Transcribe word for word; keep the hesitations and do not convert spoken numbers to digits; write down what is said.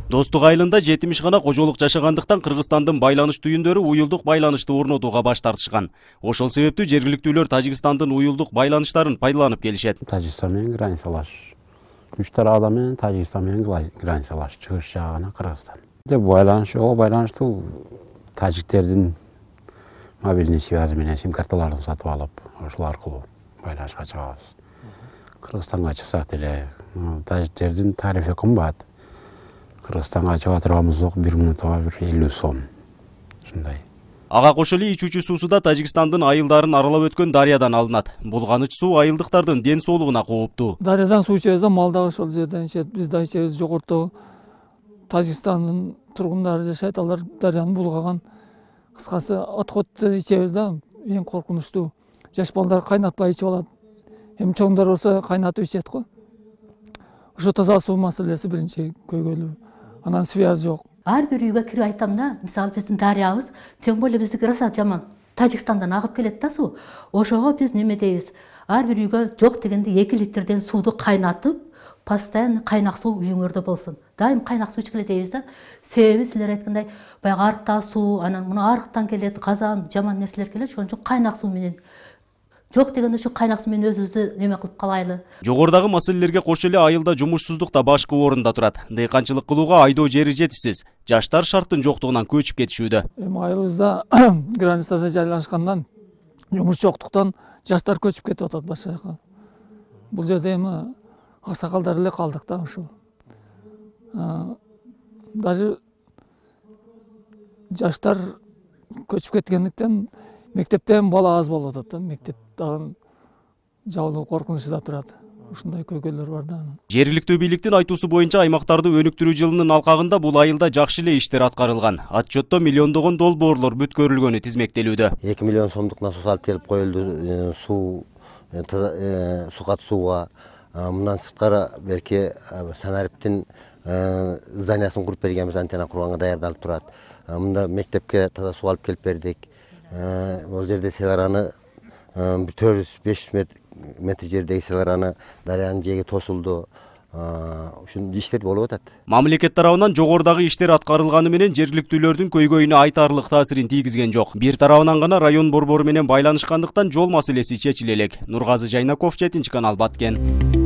Достук айылында жетимиш гана кожолук жашагандыктан Кыргызстандын байланыш түйүндөрү уюлдук байланышты орнотууга баш тартышкан. Ошол себептүү жергиликтүүлөр Тажикстандын уюлдук байланыштарын пайдаланып келишет. Тажикстан менен границалаш. Үч тарабы менен Тажикстан менен границалаш. Чыгыш жагы Кыргызстан. Деп байланыш, о байланыштуу тажиктердин мобильный связи менен сим карталарын сатып алып, ошол аркылуу байланышка чыгабыз. Кыргызстанга чыксак деле, тажиктердин тарифи кымбат. Кыргызстанга чыга турганыбыз бир минутага бир элүү сом. Ушундай. Ага кошо эле ичүүчү суусу да Тажикстандын айылдарын аралап өткөн дарыядан алынат. Булганыч суу айылдыктардын ден соолугуна кооптуу. Дарыядан суу ичебиз да, мал дагы ошол жерден ичет. Биз да ичебиз. Жогорто Тажикстандын тургундары жашайт, алар дарыяны булгаган. Кыскасы отходду ичебиз да, эң коркунучтуу. Жаш балдар кайнатпай ичип алат. Эми чоңдор болсо кайнатып ичет го. Ошо таза суу маселеси биринчи көйгөйлүү. Анан связь жок. Ар бир үйгө кирип айтам да, мисалы биздин дарыябыз тең боло биздики раса жаман. Тажикстандан агып келет да суу. Ошого биз неме дейбиз? Ар бир үйгө жок дегенде эки литрден сууду кайнатып, постоянно кайнак суу үйүңөрдө болсун. Дайым кайнак суу ичкиле дейбиз да. Себеби силер айткандай, баягы арыктагы суу, анан мына арыктан келет, казан, жаман нерселер келет, ошон үчүн кайнак суу менен жок дегенде ушу кайнак суу менен өзүбүздү неме кылып калайлы. Жогорудагы маселелерге кошо эле айылда жумушсуздук да башкы орунда турат. Дыйканчылык кылууга айдоо жери жетишсиз. Жаштар шарттын жоктугунан көчүп кетишүүдө. Эми айылыбызда границада жайлашкандан, жумуш жоктуктан жаштар көчүп кетип атат башка жака. Бул жерде эми аксакалдар эле калдык да ушул. Даже жаштар көчүп кеткендиктен мектептен бала аз болуп атат да, мектеп дагы жабылуу коркунучу да турат. Ушундай көйгөйлөр бар да. Жергиликтүү бийликтин айтуусу боюнча аймактарды өнүктүрүү жылынын алкагында бул айылда жакшы эле иштер аткарылган. Отчетто миллиондогон долбоорлор бүткөрүлгөнү тизмектелүүдө. эки миллион сомдук насос алып келип коюлду суу суу катышууга. Мындан сырткары берки Санариптин зданиясын куруп бергенбиз, антенна курганга даярдалып турат. Мында мектепке таза суу алып келип бердик. Бул жерде селараны төрт жүз беш жүз метр жердеги селараны дарыянын жээги тосулду. Ушундай иштер болуп атат. Мамлекет тарабынан жогорудагы иштер аткарылганы менен жергиликтүүлөрдүн көйгөйүнө айтарлык таасирин тийгизген жок. Бир тарабынан гана район борбору менен байланышкандыктан жол маселеси чечиле элек. Нургазы Жайнаков, жетинчи канал, Баткен.